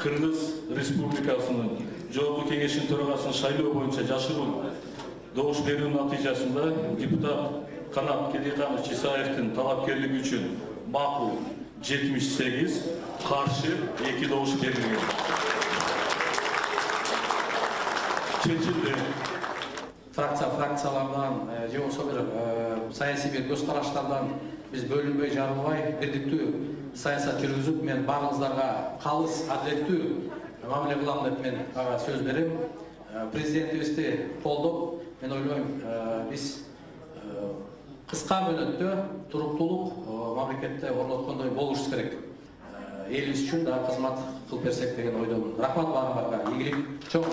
Кыргыз Республикасынын Жогорку Кеңешинин төрагасынын шайлоо боюнча жашыруун добуш берүү натыйжасында депутат Канат Кедиканович Исаевдин талапкерлиги үчүн макул 78, каршы 2 добуш берилген. Чечилди. Фракциялардан же болсо бир саясий бир көз караштардан биз бөлүнбөй жарылбай бирдиктүү саясат жүргүзүп, мен баарыңыздарга калыс адилеттүү мамиле кылам деп мен сөз берем. Президентибизди колдоп, мен ойлойм, биз кыска мөөнөттө туруктуулук мамлекетте орноткондой болушубуз керек. Элибиз үчүн да кызмат кылып берсек деген ойдомун. Рахмат баарыңарга, ийгилик чоң.